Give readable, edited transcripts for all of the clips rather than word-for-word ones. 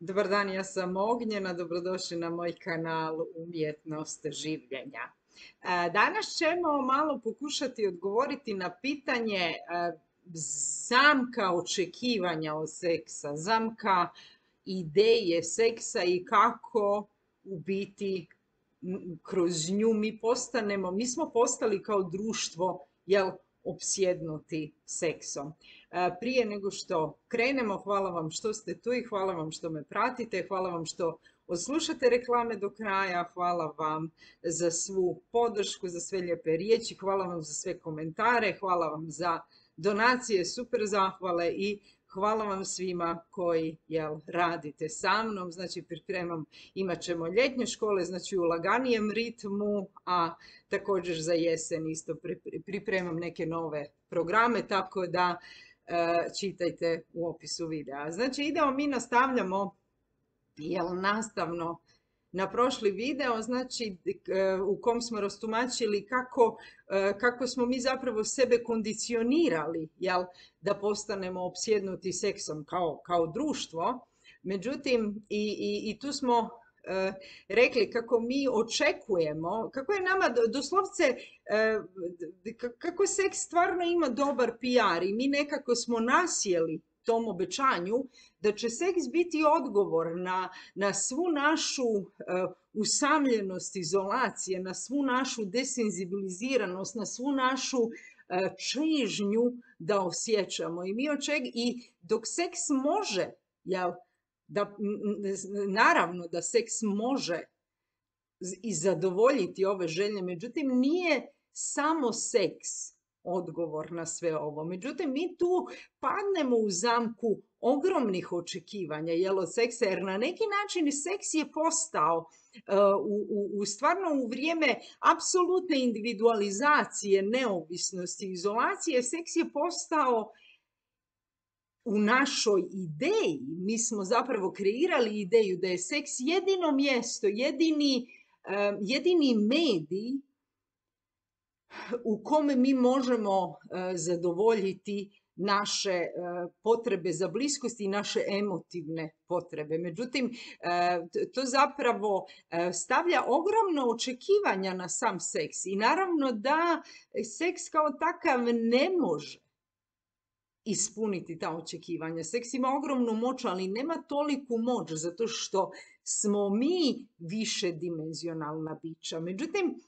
Dobar dan, ja sam Ognjena, dobrodošli na moj kanal Umjetnost življenja. Danas ćemo malo pokušati odgovoriti na pitanje zamka očekivanja od seksa, zamka ideje seksa i kako u biti kroz nju mi smo postali kao društvo, jel, opsjednuti seksom. Prije nego što krenemo, hvala vam što ste tu i hvala vam što me pratite, hvala vam što odslušate reklame do kraja, hvala vam za svu podršku, za sve lijepe riječi, hvala vam za sve komentare, hvala vam za donacije, super zahvale i hvala vam svima koji radite sa mnom. Znači imat ćemo ljetnje škole, znači u laganijem ritmu, a također za jesen isto pripremam neke nove programe, tako da čitajte u opisu videa. Znači nastavljamo nastavno na prošli video, znači u kom smo rastumačili kako smo mi zapravo sebe kondicionirali, jel, da postanemo opsjednuti seksom kao društvo. Međutim, i tu smo rekli kako mi očekujemo, kako je nama doslovce, kako seks stvarno ima dobar PR i mi nekako smo nasjeli tom obećanju da će seks biti odgovor na svu našu usamljenost, izolacije, na svu našu desenzibiliziranost, na svu našu čežnju da osjećamo. I dok seks može, jel, naravno da seks može i zadovoljiti ove želje, međutim nije samo seks odgovor na sve ovo. Međutim, mi tu padnemo u zamku ogromnih očekivanja, jel, od seksa, jer na neki način seks je postao stvarno u vrijeme apsolutne individualizacije, neovisnosti, izolacije, seks je postao u našoj ideji. Mi smo zapravo kreirali ideju da je seks jedino mjesto, jedini medij u kome mi možemo zadovoljiti naše potrebe za bliskost i naše emotivne potrebe. Međutim, to zapravo stavlja ogromno očekivanja na sam seks i naravno da seks kao takav ne može ispuniti ta očekivanja. Seks ima ogromnu moć, ali nema toliku moć zato što smo mi višedimenzionalna bića. Međutim,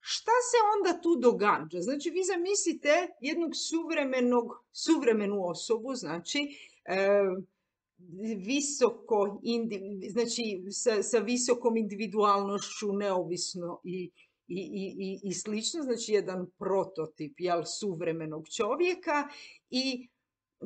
šta se onda tu događa? Znači, vi zamislite jednog suvremenu osobu, znači, sa visokom individualnošću, neovisno i slično, znači jedan prototip, jel, suvremenog čovjeka, i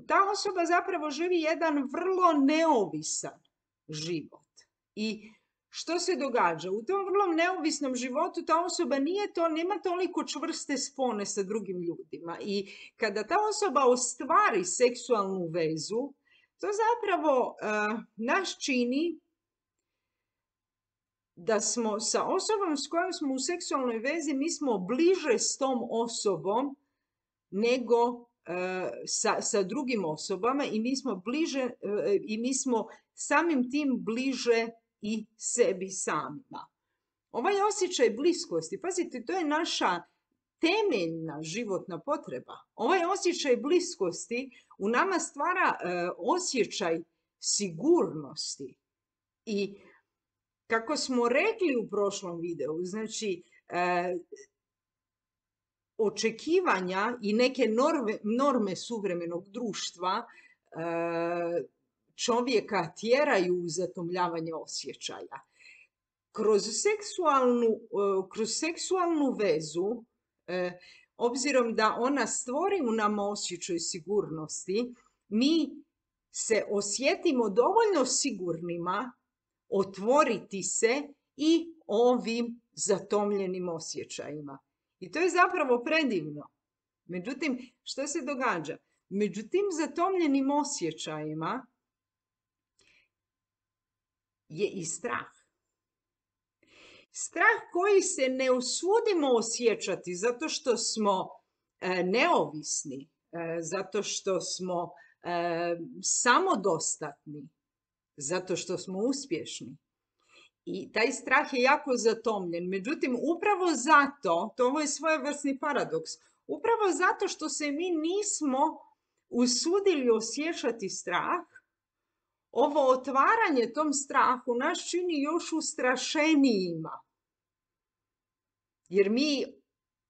ta osoba zapravo živi jedan vrlo neovisan život. I što se događa? U tom vrlo neovisnom životu ta osoba nema toliko čvrste spone sa drugim ljudima. I kada ta osoba ostvari seksualnu vezu, to zapravo nas čini da smo sa osobom s kojom smo u seksualnoj vezi, mi smo bliže s tom osobom nego sa drugim osobama i mi smo samim tim bliže i sebi samima. Ovaj osjećaj bliskosti, pazite, to je naša temeljna životna potreba. Ovaj osjećaj bliskosti u nama stvara osjećaj sigurnosti. I kako smo rekli u prošlom videu, znači očekivanja i neke norme suvremenog društva čovjeka tjeraju u zatomljavanje osjećaja. Kroz seksualnu vezu, obzirom da ona stvori u nama osjećaj sigurnosti, mi se osjetimo dovoljno sigurnima otvoriti se i ovim zatomljenim osjećajima. I to je zapravo predivno. Međutim, što se događa? Među tim zatomljenim osjećajima je i strah. Strah koji se ne usudimo osjećati zato što smo neovisni, zato što smo samodostatni, zato što smo uspješni. I taj strah je jako zatomljen. Međutim, upravo zato, to je svojevrsni paradoks, upravo zato što se mi nismo usudili osjećati strah, ovo otvaranje tom strahu nas čini još ustrašenijima. Jer mi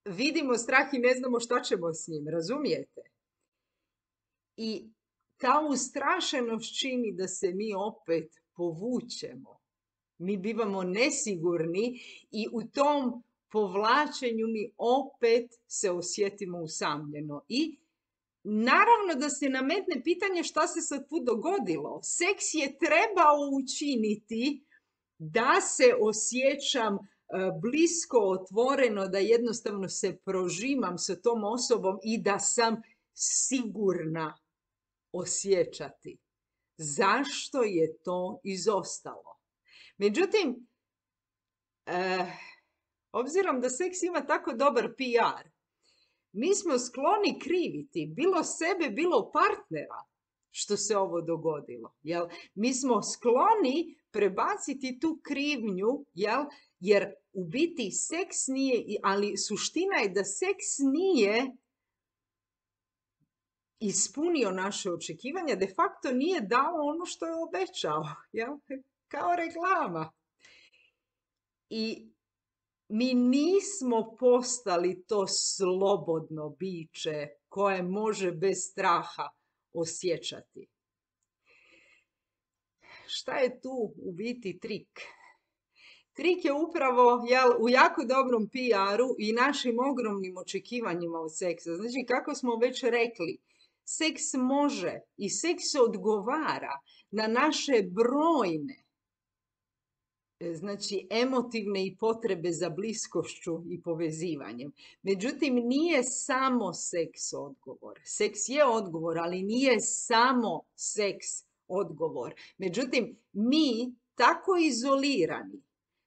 vidimo strah i ne znamo šta ćemo s njim, razumijete? I ta ustrašenost čini da se mi opet povučemo. Mi bivamo nesigurni i u tom povlačenju mi opet se osjetimo usamljeno. I naravno da se nametne pitanje šta se sad tu dogodilo. Seks je trebao učiniti da se osjećam blisko, otvoreno, da jednostavno se prožimam sa tom osobom i da sam sigurna osjećati. Zašto je to izostalo? Međutim, obzirom da seks ima tako dobar PR, mi smo skloni kriviti bilo sebe, bilo partnera što se ovo dogodilo. Jel? Mi smo skloni prebaciti tu krivnju, jer u biti seks nije, ali suština je da seks nije ispunio naše očekivanja, de facto nije dao ono što je obećao, jel? Kao reklama. I mi nismo postali to slobodno biće koje može bez straha osjećati. Šta je tu u biti trik? Trik je upravo u jako dobrom PR-u i našim ogromnim očekivanjima od seksa. Znači, kako smo već rekli, seks može i seks odgovara na naše brojne, znači, emotivne i potrebe za bliskošću i povezivanjem. Međutim, nije samo seks odgovor. Seks je odgovor, ali nije samo seks odgovor. Međutim, mi tako izolirani,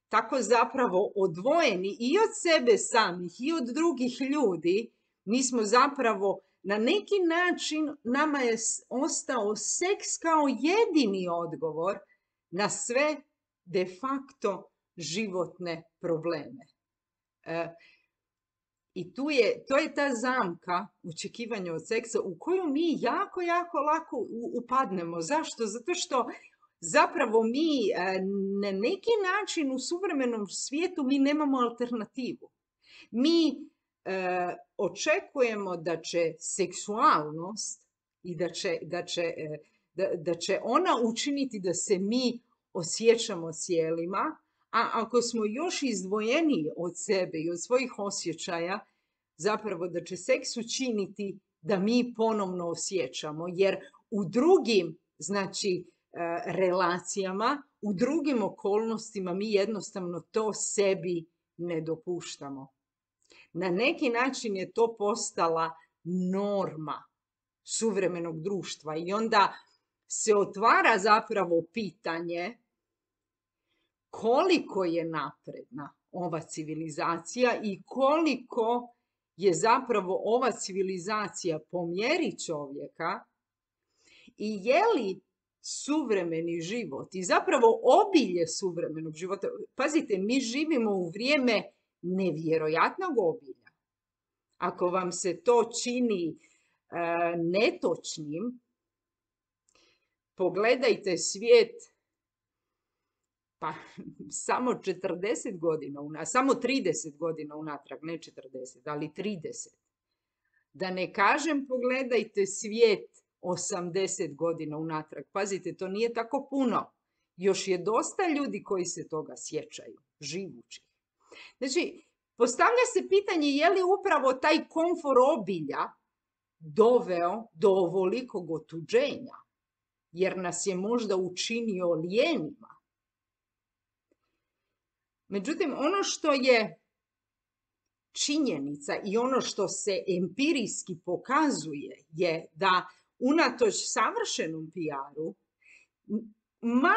tako zapravo odvojeni i od sebe samih i od drugih ljudi, mi smo zapravo na neki način, nama je ostao seks kao jedini odgovor na sve de facto životne probleme. I to je ta zamka očekivanja od seksa u koju mi jako, jako lako upadnemo. Zašto? Zato što zapravo mi na neki način u suvremenom svijetu mi nemamo alternativu. Mi očekujemo da će seksualnost i da će ona učiniti da se mi osjećamo cijelima, a ako smo još izdvojeniji od sebe i od svojih osjećaja, zapravo da će seks učiniti da mi ponovno osjećamo, jer u drugim, znači, relacijama, u drugim okolnostima mi jednostavno to sebi ne dopuštamo. Na neki način je to postala norma suvremenog društva i onda se otvara zapravo pitanje koliko je napredna ova civilizacija i koliko je zapravo ova civilizacija po mjeri čovjeka i je li suvremeni život i zapravo obilje suvremenog života. Pazite, mi živimo u vrijeme nevjerojatnog obilja. Ako vam se to čini netočnim, pogledajte svijet pa samo 40 godina, samo 30 godina unatrag, ne 40, ali 30. Da ne kažem pogledajte svijet 80 godina unatrag. Pazite, to nije tako puno. Još je dosta ljudi koji se toga sjećaju, živući. Znači, postavlja se pitanje je li upravo taj komfor obilja doveo do ovolikog otuđenja, jer nas je možda učinio lijenima. Međutim, ono što je činjenica i ono što se empirijski pokazuje je da unatoč savršenom PR-u, ma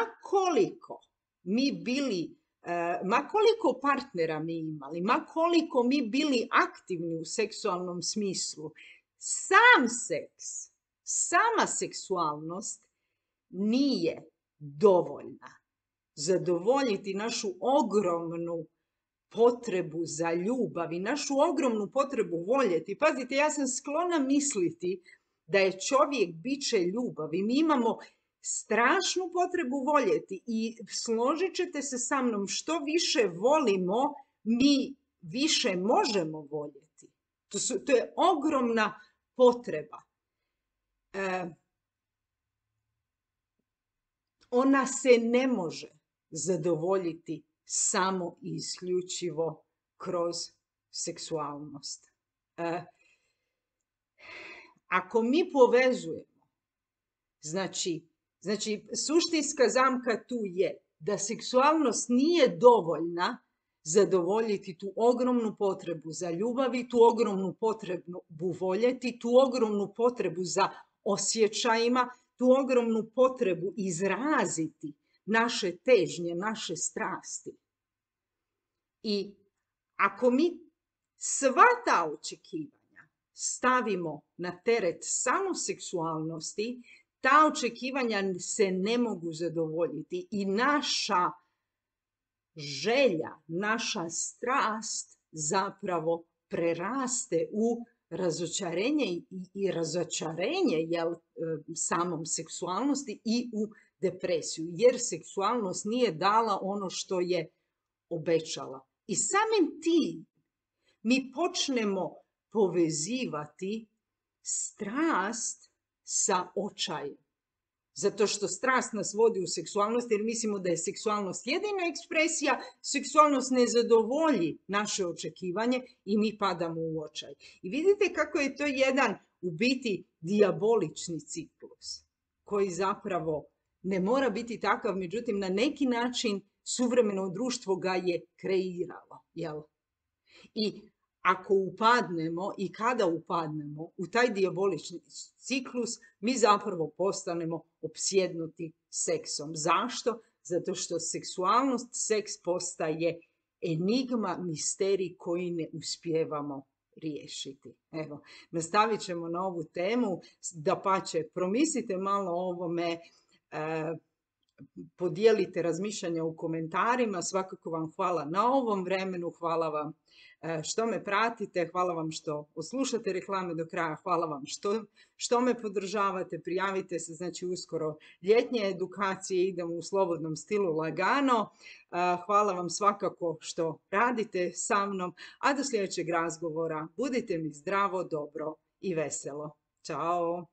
koliko partnera mi imali, ma koliko mi bili aktivni u seksualnom smislu, sam seks, sama seksualnost nije dovoljna. Zadovoljiti našu ogromnu potrebu za ljubav i našu ogromnu potrebu voljeti. Pazite, ja sam sklona misliti da je čovjek biće ljubavi. Mi imamo strašnu potrebu voljeti i složit ćete se sa mnom, što više volimo, mi više možemo voljeti. To je ogromna potreba. Ona se ne može zadovoljiti samo i isključivo kroz seksualnost. Ako mi povezujemo, znači suštinska zamka tu je da seksualnost nije dovoljna zadovoljiti tu ogromnu potrebu za ljubavi, tu ogromnu potrebu voljeti, tu ogromnu potrebu za osjećajima, tu ogromnu potrebu izraziti naše težnje, naše strasti. I ako mi sva ta očekivanja stavimo na teret samo seksualnosti, ta očekivanja se ne mogu zadovoljiti i naša želja, naša strast zapravo preraste u razočarenje i razočarenje samom seksualnosti i u depresiju, jer seksualnost nije dala ono što je obećala. I samim tim mi počnemo povezivati strast sa očajem. Zato što strast nas vodi u seksualnost jer mislimo da je seksualnost jedina ekspresija, seksualnost ne zadovolji naše očekivanje i mi padamo u očaj. I vidite kako je to jedan u biti dijabolični ciklus koji zapravo ne mora biti takav, međutim na neki način suvremeno društvo ga je kreiralo. Jel? I ako upadnemo i kada upadnemo u taj dijabolični ciklus, mi zapravo postanemo opsjednuti seksom. Zašto? Zato što seksualnost, seks postaje enigma, misterij koji ne uspijevamo riješiti. Evo, nastavit ćemo na ovu temu. Dapače, promislite malo o ovome, podijelite razmišljanja u komentarima. Svakako vam hvala na ovom vremenu, hvala vam što me pratite, hvala vam što oslušate reklame do kraja, hvala vam što me podržavate, prijavite se, znači uskoro ljetnje edukacije, idemo u slobodnom stilu lagano. Hvala vam svakako što radite sa mnom, a do sljedećeg razgovora budite mi zdravo, dobro i veselo. Ćao!